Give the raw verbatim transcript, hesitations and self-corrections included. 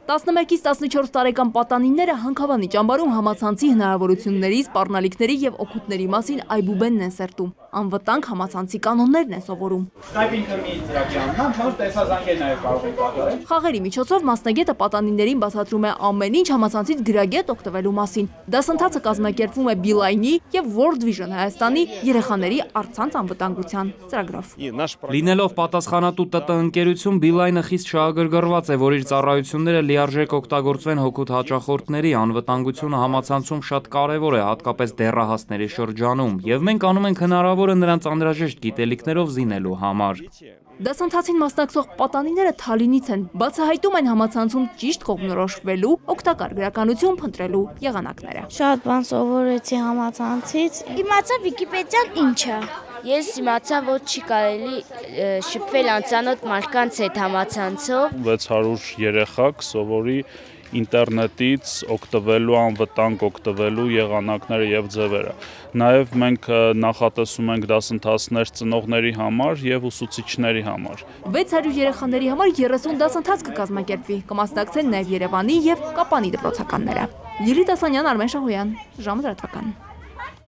տասնմեկից տասնչորս տարեկան պատանիները Հանքավանի ճամբարում համացանցի հնարավորությունների, սպառնալիքների և օգուտների մասին այբուբենն են սերտում, անվտանգ համացանցի կանոններն են սովորում։ Խաղերի միջոցով մասնագետը պատանիներին բացատրում է ամեն ինչ համացանցից գրագետ օգտվելու մասին։ Դասընթացը կազմակերպվում է Beeline-ի և World Vision Հայաստանի երեխաների առցանց անվտանգության ծրագրով։ Լինելով պատասխանատու ՏՏ ընկերություն, Beeline-ը խիստ շահագրգռված է, որ իր ծառայությունները լիարժեք օգտագործվեն հօգուտ հաճախորդների, անվտանգությունը համացանցում շատ կարևոր է, հատկապես դեռահասների շրջանում, և մենք անում ենք հնարավորը նրանց անհրաժեշտ գիտելիքներով զինելու համար։ Դասընթացին մասնակցող պատանիները Թալինից են, բացահայտում են համացանցում ճիշտ կողմնորոշվելու, օգտակար գրականություն փնտրելու եղանակները։ Շատ բան սովորեցի համացանցից, իմացա Վիկիպեդիան ինչ է։ Ես իմացա, որ չի կարելի շփվել անծանոթ մարդկանց հետ համացանցով։ վեց հարյուր երեխա կսովորի ինտերնետից օգտվելու, անվտանգ օգտվելու եղանակները և ձևերը։ Նաև մենք նախատեսում ենք դասընթացներ ծնողների համար և ուսուցիչների համար։ վեց հարյուր երեխաների համար երեսուն դասընթաց կկազմակերպվի, կմասնակցեն նաև Երևանի և Կապանի դպրոցականները։ Լիլիթ Ասանյան, Արմեն Շահոյան, ժամը լրատվական։